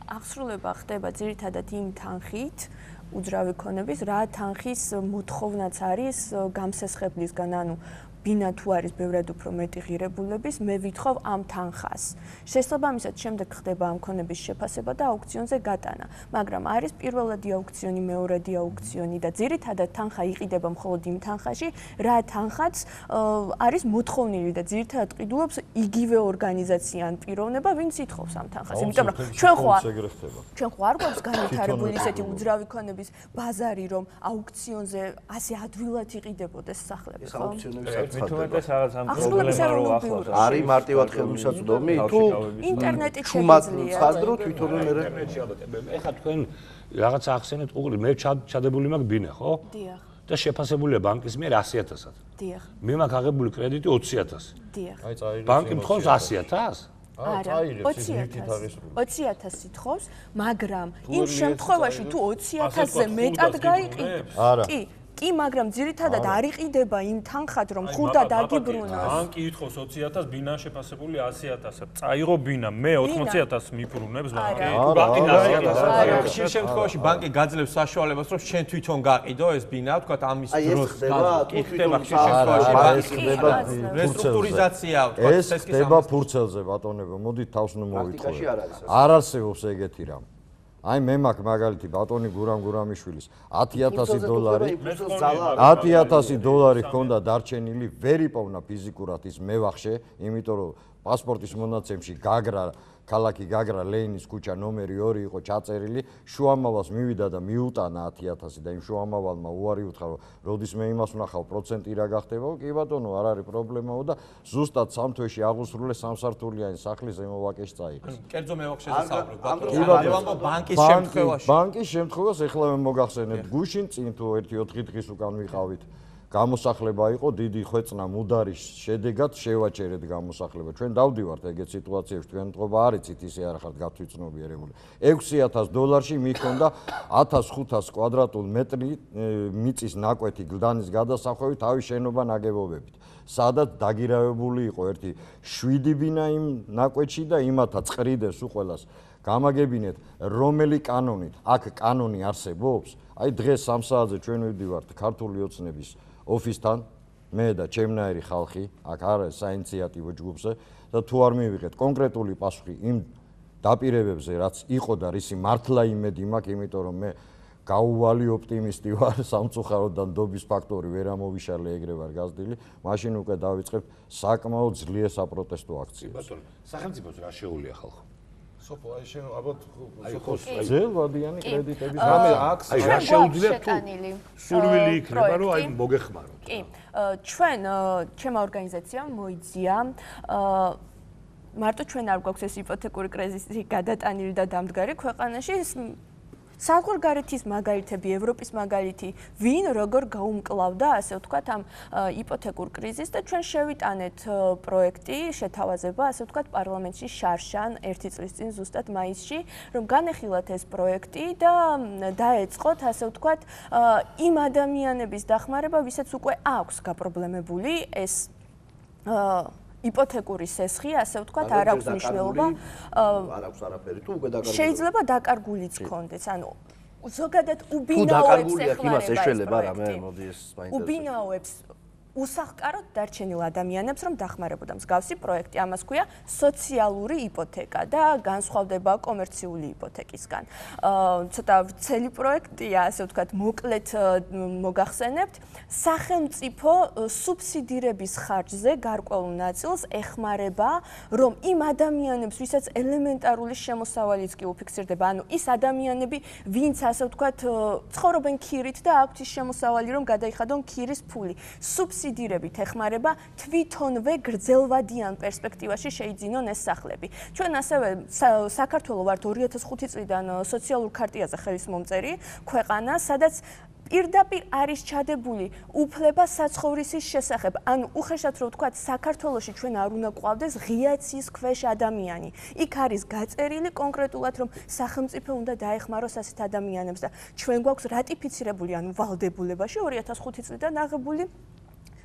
აღსრულება ხდება ძირითადად იმ თანხით, უძრავი ქონების, რა თანხის მოთხოვნაც არის გამსესხებლისგან, ანუ ბინა თუ არის ბევრად უფრო მეტი ღირებულების, მე ვითხოვ ამ თანხას. შესაბამისად, შემდეგ ხდება ამ ქონების შეფასება და აუქციონზე გატანა. მაგრამ არის პირველადი აუქციონი, მეორადი აუქციონი და ძირითადად თანხა იყიდება მხოლოდ იმ თანხაში, რა თანხაც არის მოთხოვნილი და ძირითადად ყიდულობს იგივე ორგანიზაცია ან პიროვნება, ვინც ითხოვს ამ თანხას. იმიტომ რომ ჩვენ ხო არ გვაქვს განვითარებული ისეთი უძრავი ქონების ბაზარი, რომ აუქციონზე ასე ადვილად იყიდებოდეს სახლები, ხო? მithumetes რაღაც ამ პრობლემას რო ახლავს. არის მარტივად ხელმისაწვდომი თუ ინტერნეტით შეგვიძლია ხაზდრო თვითონვე მე ეხა თქვენ რაღაც ახსენეთ უყურე მე ჩადებული მაქვს ბინა, ხო? დიახ. და შეფასებულია ბანკის მიერ 100.000-ად. დიახ. მე მაქვს აღებული კრედიტი 20.000. დიახ. ბანკი მთხოვს 100.000? არა, 20.000 ითხოვს, მაგრამ იმ შემთხვევაში თუ 20.000-ზე მეტად გაიყიდებს, კი, მაგრამ ძირითადად არ იყიდება იმ თანხად, რომ ხურდა დაგიბრუნოს. ბანკი ითხოვს 20.000, ბინა შეფასებული 100.000. წაიღო ბინა, მე 80.000 მიფრუნებს ბანკი. ბანკი 100.000. ხშირ შემთხვევაში ბანკი გაძლევს საშუალებას, რომ შენ თვითონ გაყიდო ეს ბინა, თქვა ამის დროს. კი, ხდება ხშირ შემთხვევაში ბანკი რესტრუქტურიზაცია, თქვა ეს ხდება ფურცელზე, ბატონებო, მოდით თავს ნუ მოვიტყუე. არ არსებობს ეგეთი რამ. აი მე მაქვს მაგალითი ბატონი გურამიშვილის 10.000 დოლარი 10.000 დოლარი ჰქონდა დარჩენილი, ვერ იპოვნა ფიზიკურად ის მევახშე, იმიტომ რომ პასპორტის მონაცემში გაგრა ქალაქი გაგრა ლეინის ქუჩა ნომერი 2 იყო ჩაწერილი, შუამავალს მივიდა და მიუტანა 10.000 და იმ შუამავალმა უარი უთხრა, რომ როდის მე იმას ვნახავ პროცენტი რა გახდებაო, კი ბატონო, არ არის პრობლემაო და ზუსტად 3 თვეში აღუსრულე 3-სართულიანი სახლის ზემოვაკეში წაიღეს. კერძო მევახშეზე საუბრობ, ბანკის შემთხვევაში. ბანკის შემთხვევას ეხლა მე მოგახსენებთ, გუშინ წინ თუ 1-4 დღის უკან ვიყავით გამოსახლება იყო დიდი ხვეწნა მუდარის შედეგად შევაჭერეთ გამოსახლება. ჩვენ დავდივართ ეგეთ სიტუაციებში, თქვენ მდგომა არიცით ისე არ ხართ გათვითცნობიერებული. $6,000 მიქონდა 1500 კვადრატულ მეტრი მიწის ნაკვეთი გლდანის გადასახვევით თავის შენობა ნაგებობებით. სადაც დაგირავებული იყო ერთი 7 ბინა იმ ნაკვეთში და იმათა წყრიდეს უყველას გამაგებინეთ რომელი კანონით აქ კანონი არსებობს. აი დღეს 3 საათზე ჩვენ ვიდივართ ქართული ოცნების ოფისთან მე და ჩემნაირი ხალხი აქ არის საინიციატივო ჯგუფზე და თუ არ მივიღეთ კონკრეტული პასუხი იმ დაპირებებზე რაც იყო და რისი მართლა იმედი მაქვს, იმიტომ რომ მე გაუვალი ოპტიმისტი ვარ, სამწუხაროდან დობის ფაქტორი ვერ ამოვიშალე ეგრე ვარ გაზრდილი, მაშინ უკვე დავიწყებ საკმაოდ ძლიერ საპროტესტო აქციას. ბატონო, სახელმწიფოს რა შეუულია ხალხო? სოფო, აი შენ ალბათ ძელვადიანი კრედიტების რამე აქვს, აი რა შეუძლია თუ სურვილი იქნება რომ აი მოგეხმაროთ. კი, ჩვენ ჩემმა ორგანიზაციამ მოიძია მარტო ჩვენ არ გვაქვს ეს იპოთეკური კრიზისი გადატანილი და დამდგარი ქვეყანაში საზღვარგარეთის მაგალითები, ევროპის მაგალითი, ვინ როგორ გაუმკლავდა, ასე ვთქვათ, ამ იპოთეკურ კრიზისს და ჩვენ შევიტანეთ პროექტი, შეთავაზება, ასე ვთქვათ, პარლამენტში შარშან 1 წლის წინ ზუსტად მაისში, რომ განეხილათ ეს პროექტი და დაეწყოთ, ასე ვთქვათ, იმ ადამიანების დახმარება, ვისაც უკვე აქვს გაპრობლემებული ეს იპოთეკური სესხი, ასე ვთქვათ, არ აქვს მნიშვნელობა. არ აქვს არაფერი, თუ უკვე დაკარგულია. შეიძლება დაკარგულიც კონდეს, ანუ ზოგადად უბინაოებს ეხმარება ეს პროექტი. უბინაოებს უსახკაროდ დარჩენილ ადამიანებს, რომ დახმარებოდა მსგავსი პროექტი. ამას ქვია სოციალური იპოთეკა და განსხვავდება კომერციული იპოთეკისგან. ცოტა ვრცელი პროექტია, ასე ვთქვათ, მოკლედ მოგახსენებთ. სახელმწიფო სუბსიდირების ხარჯზე გარკვეულ ნაწილს ეხმარება, რომ იმ ადამიანებს, ვისაც ელემენტარული შემოსავალიც კი უფიქსირდება, ანუ ის ადამიანები, ვინც ასე ვთქვათ, ცხოვრობენ ქირით და აქვთ ის შემოსავალი, რომ გადაიხადონ ქირის ფული. სუბსიდირებით ეხმარება თვითონვე გრძელვადიან პერსპექტივაში შეიძინონ ეს სახლები. ჩვენ ასევე საქართველოს ვართ 2005 წლიდან სოციალურ ქარტიაზე ხელისმომწერი ქვეყანა, სადაც პირდაპირ არის ჩადებული უფლება საცხოვრისის შესახებ. ანუ უხეშად რომ ვთქვათ, საქართველოში ჩვენ არ უნდა გვყავდეს ღია ცის ქვეშ ადამიანი. იქ არის გაწერილი კონკრეტულად, რომ სახელმწიფო უნდა დაეხმაროს ასეთ ადამიანებს და ჩვენ გვაქვს რატიფიცირებული, ანუ ვალდებულებაში 2005 წლიდან აღებული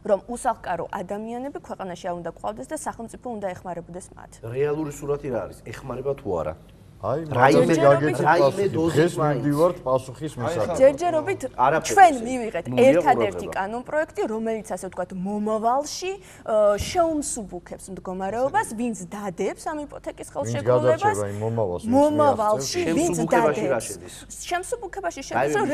რომ უსახკარო ადამიანები ქვეყანაში არ უნდა გვყავდეს და სახელმწიფო უნდა ეხმარებოდეს მათ. რეალური სურათი რა არის? ეხმარება თუ არა? აი, მაგაზე გაგეცეთ დღეს მივდივართ პასუხის მისაღებად. ჯერჯერობით ჩვენ მივიღეთ ერთადერთი კანონ პროექტი, რომელიც ასე ვთქვათ, მომავალში შეუმსუბუქებს მდგომარეობას, ვინც დადებს ამ იპოთეკის ხელშეკრულებას. მომავალში ვინც დადებს. შემსუბუქებაში შედის, რომ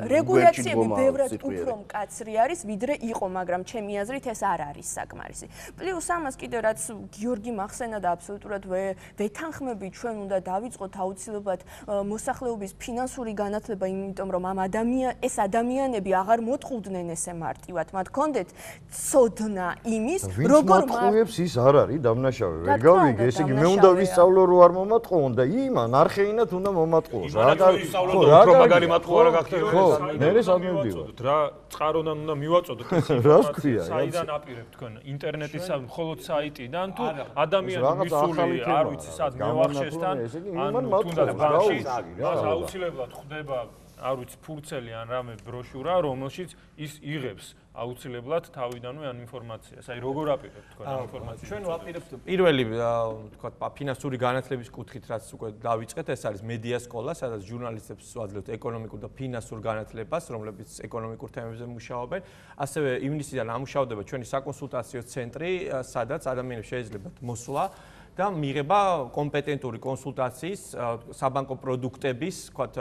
რეგულაციები ბევრად უფრო მკაცრი არის, ვიდრე იყო, მაგრამ ჩემი აზრით ეს არ არის საკმარისი. პლუს ამას კიდევ რაც გიორგი მახსენა და აბსოლუტურად ვეთანხმები ჩვენ უნდა დავიწყოთ აუცილებლად მოსახლეობის ფინანსური განათლება, იმიტომ რომ ეს ადამიანები აღარ მოწყუდნენ ესე მარტივად. მათ ჰქონდეთ ცოდნა იმის, როგორ მომატყუებს ის არ არის დამნაშავე. ვერ გავიგე, ესე იგი მე უნდა ვისწავლო რომ არ მომატყუონ და იმან არხეინად უნდა მომატყუოს. რა მაგარი მატყუა რა გახდება? ხო, მე სამივდივარ. რა წყაროდან უნდა მივაწოდოთ ეს ინფორმაცია? საიდან აპირებთ თქვენ? ინტერნეტის მხოლოდ საიტიდან თუ ადამიანის მისული არ ვიცი სად მევახშეს ანუ თუნდაც ბანკში აუცილებლად ხდება არ ვიცი ფურცელი ან რამე ბროშურა, რომელშიც ის იღებს აუცილებლად თავიდანვე ამ ინფორმაციას. აი როგორ აპირებთ თქვენ ამ ინფორმაციას? ჩვენ ვაპირებთ პირველი თქვათ ფინანსური განათლების კუთხით, რაც უკვე დავიწყეთ, ეს არის მედია სკოლა, სადაც ჟურნალისტებს ვაძლევთ ეკონომიკურ და ფინანსურ განათლებას, რომლებიც ეკონომიკურ თემებზე მუშაობენ. ასევე ივნისიდან ამუშავდება ჩვენი საკონსულტაციო ცენტრი, სადაც ადამიანებს შეეძლებათ მოსვლა და მიიღება კომპეტენტური კონსულტაციის საბანკო პროდუქტების, ვთქვათ,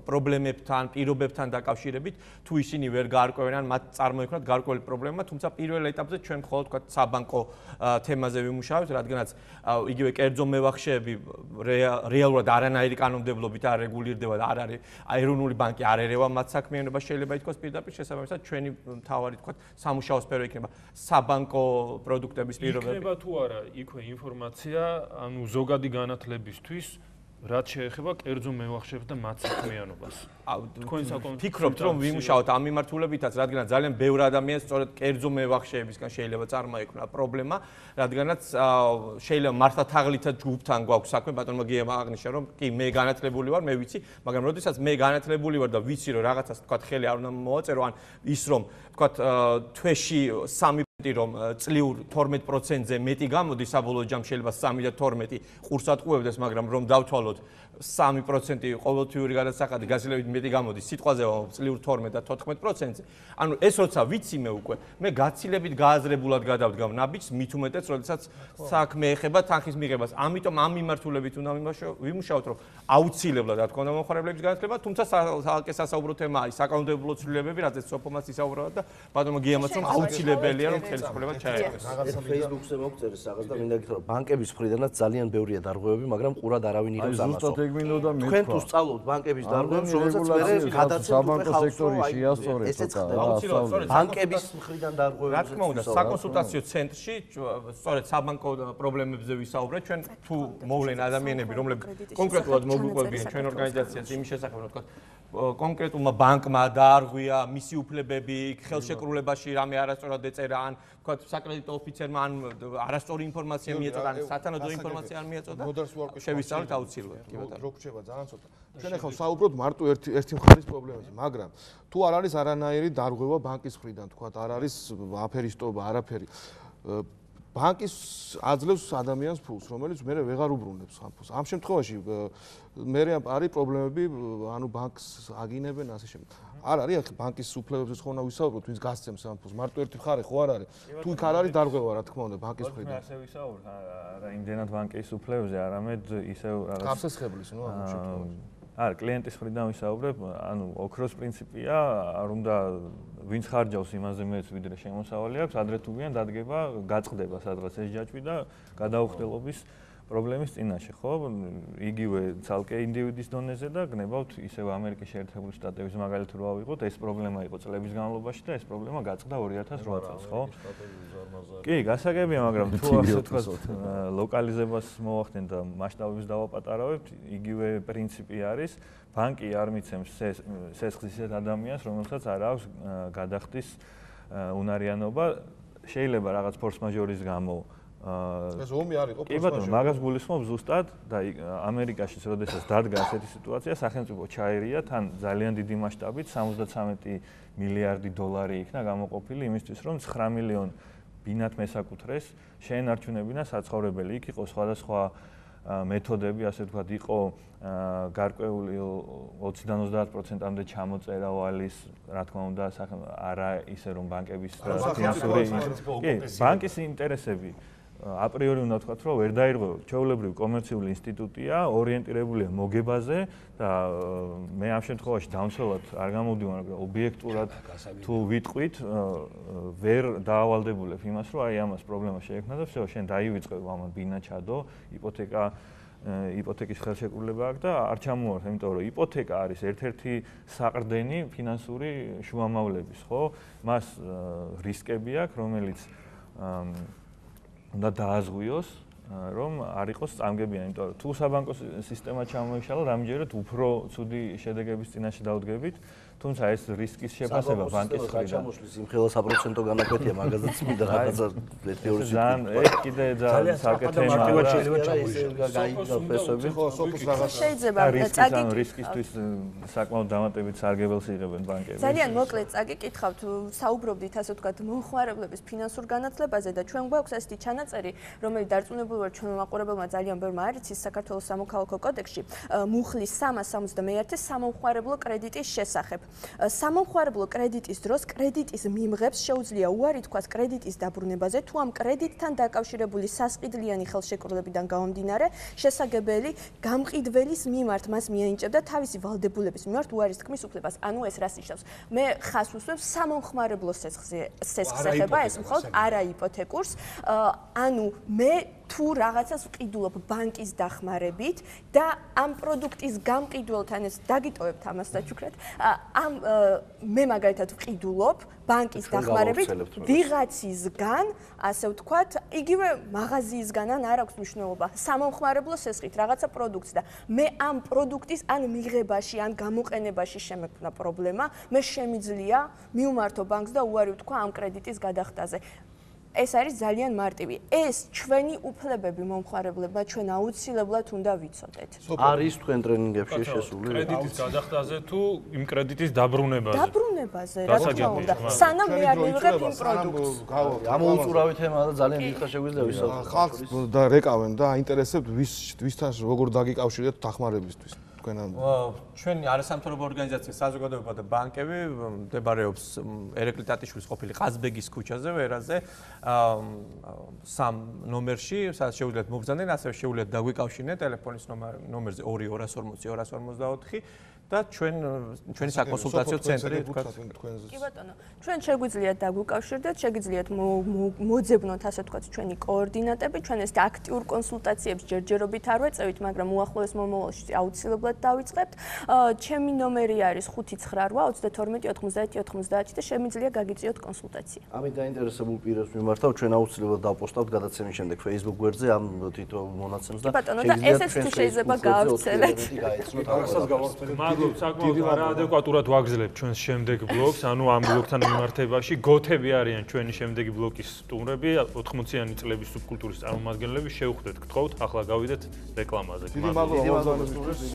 პრობლემებთან, პირობებთან დაკავშირებით, თუ ისინი ვერ გაარკვევენ, მათ წარმოიქმნათ გარკვეული პრობლემა, თუმცა პირველ ეტაპზე ჩვენ მხოლოდ, ვთქვათ, საბანკო თემაზე ვიმუშავებთ, რადგანაც იგივე კერძო მევახშეები რეალურად არანაირი კანონმდებლობით არ რეგულირდება და არ არის ეროვნული ბანკი არ ერევა მათ საქმიანობას, შეიძლება ითქვას პირდაპირ, შესაბამისად ჩვენი მთავარი, ვთქვათ, სამუშაო სფერო იქნება საბანკო პროდუქტების პირობები. იქნება თუ არა იქვე ინფორმაცია ანუ ზოგადი განათლებისთვის რაც შეეხება კერძო მევახშეებს და მათ საქმიანობას. ფიქრობთ რომ ვიმუშაოთ ამ მიმართულებითაც, რადგანაც ძალიან ბევრი ადამიანი სწორედ კერძო მევახშეებისგან შეიძლება წარმოექმნა პრობლემა, რადგანაც შეიძლება მართლა თაღლითად ჯგუფთან გვაქვს საქმე, ბატონმა გიამ აღნიშნა რომ კი მე განათლებული ვარ, მე ვიცი, მაგრამ როდესაც მე განათლებული ვარ და ვიცი რომ რაღაცას თქვა ხელი არ უნდა მოვაწერო, ან ის რომ თქვა თვეში 3 რომ წლიურ 12%-ზე მეტი გამოდის, საბოლოო ჯამში შეიძლება 3 და 12 ყურს ატყუებდეს, მაგრამ რომ დავთვალოთ 3% ყოველთვიური გადასახადი გასილებით მეტი გამოდის, სიტყვაზე წლიურ 12 და 14%-ზე. ანუ ეს როცა ვიცი მე უკვე, მე გაცილებით გააზრებულად გადავდგავ ნაბიჯს, მით უმეტეს, როდესაც საქმე ეხება თანხის მიღებას. ამიტომ ამ მიმართულებით უნდა ვიმუშაოთ, რომ აუცილებლად რა თქმა უნდა მომხმარებლების განათლება, თუმცა საკანონმდებლო თემა არის, საკანონმდებლო ცვლილებები, რაც ეს სოფომაც ისაუბრა და ბატონო გიამაც რომ აუცილებელია რომ ხელისუფლება ჩაერევოს. Facebook-ზე მოგწერეს რაღაც და მინდა გითხრა, ბანკების მხრიდანაც ძალიან ბევრია დარღვევები, მაგრამ ყურად არავინ იღებს ამას. თქვენ თუ სწავლობთ ბანკების დარღვევებს, რომელსაც მე გადაცემთ საბანკო სექტორი შეასწორეთ ცოტა. ბანკების მხრიდან დარღვევები. რა თქმა უნდა, საკონსულტაციო ცენტრში სწორედ საბანკო პრობლემებზე ვისაუბრეთ. ჩვენ თუ მოვლენ ადამიანები, რომლებიც კონკრეტულად მოგვიყვებიან ჩვენ ორგანიზაციას იმის შესახებ, რომ თქვა კონკრეტულმა ბანკმა დაარღვია მისი უფლებები, ხელშეკრულებაში რამე არასწორად ეწერა, ან თქვა საკრედიტო ოფიცერმა ან არასწორი ინფორმაცია მიეწოდა, ან სათანადო ინფორმაცია არ მიეწოდა. შევისწავლეთ აუცილებლად. კი ბატონო. რო გრჩება ძალიან ცოტა. ჩვენ ახლა საუბრობთ მარტო ერთი მხარის პრობლემაზე, მაგრამ თუ არ არის არანაირი დარღვევა ბანკის მხრიდან, თქვა არ არის აფერისტობა, არაფერი. ბანკის აძლევს ადამიანს ფულს, რომელიც მე ვეღარ უბრუნებს ამ ფულს. ამ შემთხვევაში მე არის პრობლემები, ანუ ბანკს აგინებენ ასე შემდეგ. არ არის ახლა ბანკის უფლებებზე ხო უნდა ვისაუბროთ, ვინც გასცემს ამ ფულს. მარტო ერთი მხარე ხო არ არის. თუ იქ არ არის დარღვევა, რა თქმა უნდა, ბანკის მხრიდან. ასე ვისაუბროთ, არა იმდენად ბანკის უფლებებზე, არამედ ისევ რაღაც გაფსესხებლის, ნუ ამ შემთხვევაში. არა, კლიენტის მხრიდან ვისაუბრებ, ანუ ოქროს პრინციპია, არ უნდა ვინც ხარჯავს იმაზე მეც ვიდრე შემოსავალი აქვს, ადრე თუ ვიან დადგება, გაწყდება სადღაც ეს ჯაჭვი და გადაუხდელობის პრობლემის წინაშე, ხო? იგივე ცალკე ინდივიდის დონეზე და გნებავთ ისევ ამერიკის შეერთებული შტატების მაგალითად რა ვიღოთ, ეს პრობლემა იყო წლების განმავლობაში და ეს პრობლემა გაწყდა 2008 წელს, ხო? კი, გასაგებია, მაგრამ თუ ასე ვთქვათ, ლოკალიზებას მოვახდენ და მასშტაბებს დავაპატარავებთ, იგივე პრინციპი არის, ბანკი არ მიცემს სესხს ისეთ ადამიანს, რომელსაც არ აქვს გადახდის უნარიანობა, შეიძლება რაღაც ფორს-მაჟორის გამო ეს ომი არ იყო კი ბატონო, მაგას გულისხმობ ზუსტად და ამერიკაშიც როდესაც დადგა ასეთი სიტუაცია, სახელმწიფო ჩაერია თან ძალიან დიდი მასშტაბით 73 მილიარდი დოლარი იქნა გამოყოფილი იმისთვის, რომ 9 მილიონ ბინათ მესაკუთრეს შეენარჩუნებინა საცხოვრებელი. იქ იყო სხვადასხვა მეთოდები, ასე ვთქვათ, იყო გარკვეული 20-დან 30%-მდე ჩამოწერა ვალის, რა თქმა უნდა, არა ისე რომ ბანკების ფინანსური კი, ბანკის ინტერესები აპრიორი უნდა ვთქვათ, რომ ვერ დაირღვევა. ჩვეულებრივი კომერციული ინსტიტუტია, ორიენტირებულია მოგებაზე და მე ამ შემთხვევაში დამცველად არ გამოვდივარ, მაგრამ ობიექტურად თუ ვიტყვით, ვერ დაავალდებულებ იმას, რომ აი ამას პრობლემა შეექმნა და всё, შენ დაივიწყებ ამან ბინა ჩადო, იპოთეკის ხელშეკრულება აქვს და არ ჩამოვართ, იმიტომ რომ იპოთეკა არის ერთ-ერთი საყრდენი ფინანსური შუამავლების, ხო? მას რისკები აქვს, რომელიც უნდა დააზღვიოს, რომ არ იყოს წამგებიანი, იმიტომ რომ თუ საბანკო სისტემა ჩამოიშალა, რამჯერად უფრო ცუდი შედეგების წინაშე დავდგებით, თუმცა ეს რისკის შეფასება ბანკის მხრიდან ჩამოშლის იმხელა საპროცენტო განაკვეთია, მაგაზეც მინდა რაღაცა მეორე ძალიან ეს კიდე ძალიან საკეთე თემაა. შეიძლება ჩამოიშალოს ფესვები. ხო, სოფოს რაღაც შეიძლება წაგიკითხავთ რისკისთვის საკმაოდ დამატებით სარგებელს იღებენ ბანკები. ძალიან მოკლედ წაგიკითხავთ, საუბრობდით ასე ვთქვათ, მომხმარებლების ფინანსურ განათლებაზე და ჩვენ გვაქვს ასეთი ჩანაწერი, რომელიც დარწმუნებული ვარ ჩვენ მაყურებელმა ძალიან ბევრმა არ იცის საქართველოს სამოქალაქო კოდექსში, მუხლის 371 სამომხმარებლო კრედიტის შესახებ. სამომხმარებლო კრედიტის დროს კრედიტის მიმღებს შეუძლია უარი თქვას კრედიტის დაბრუნებაზე, თუ ამ კრედიტთან დაკავშირებული სასყიდლიანი ხელშეკრულებიდან გამომდინარე, შესაძლებელი გამყიდველის მიმართ მას მიენიჭებდა თავისი ვალდებულების მიმართ უარის თქმის უფლებას. ანუ ეს რას ნიშნავს? მე ხას უსვევ სამომხმარებლო სესხს ეხება, ეს მხოლოდ არა იპოთეკურს. ანუ მე თუ რაღაცას ვყიდულობ ბანკის დახმარებით და ამ პროდუქტის გამყიდველთან ეს დაგიტოვებთ ამას საჩუქრად, მე მაგალითად ვყიდულობ ბანკის დახმარებით ვიღაცისგან, ასე ვთქვათ, იგივე მაღაზიისგან ან არ აქვს მნიშვნელობა, სამომხმარებლო სესხით რაღაცა პროდუქტს და მე ამ პროდუქტის ან მიღებაში, ან გამოყენებაში შემექმნა პრობლემა, მე შემიძლია მივმართო ბანკს და უარი ვთქვა ამ კრედიტის გადახდაზე. ეს არის ძალიან მარტივი. ეს ჩვენი უფლებები მომხმარებლებმა ჩვენ აუცილებლად უნდა ვიცოდეთ. არის თქვენ ტრენინგებში შესული? კრედიტის გადახდაზე თუ იმ კრედიტის დაბრუნებაზე? დაბრუნებაზე, რა თქმა უნდა. სანამ მე არ მივიღებ იმ პროდუქტს. ამოუწურავი თემაა და ძალიან დიდხანს შეგვიძლია ვისაუბროთ. ხალხს და რეკავენ და აინტერესებთ ვისთან როგორ დაგიკავშირეთ დახმარებისთვის. ჩვენი არასამთავრობო ორგანიზაცია საზოგადოება და ბანკები მდებარეობს ერეკლი ტატიშვილის ყოფილი ყაზბეგის ქუჩაზე, ვერაზე 3 ნომერში, სადაც შეუძლიათ მობრძანდნენ, ასევე შეუძლიათ დაგვიკავშირნეთ ტელეფონის ნომერზე 2-250-254 და ჩვენი საკონსულტაციო ცენტრი თქვათ. კი ბატონო, ჩვენ შეგვიძლიათ დაგვიკავშირდეთ, შეგიძლიათ მოძებნოთ, ასე ვთქვათ, ჩვენი კოორდინატები, ჩვენ ეს აქტიურ კონსულტაციებს ჯერჯერობით არ ვეწევით, მაგრამ უახლოეს მომავალში აუცილებლად დავიწყებთ. ჩემი ნომერი არის 592-92-90-90 და შემიძლია გაგიწიოთ კონსულტაცია. ამით დაინტერესებულ პირებს მიმართავ, ჩვენ აუცილებლად დავპოსტავთ გადაცემის შემდეგ Facebook გვერდზე ამ თითო მონაცემს და ბატონო, და ესეც თუ შეიძლება გაავრცელეთ. საკმაოდ არაადეკვატურად ვაგზლებთ ჩვენს შემდეგ ბლოგს, ანუ ამ ბლოგთან მიმართებაში გოთები არიან ჩვენი შემდეგი ბლოკის სტუმრები, 80-იანი წლების სუბკულტურის წარმომადგენლები, შევხვდეთ, გთხოვთ, ახლა გავიდეთ რეკლამაზე. დიდი მადლობა.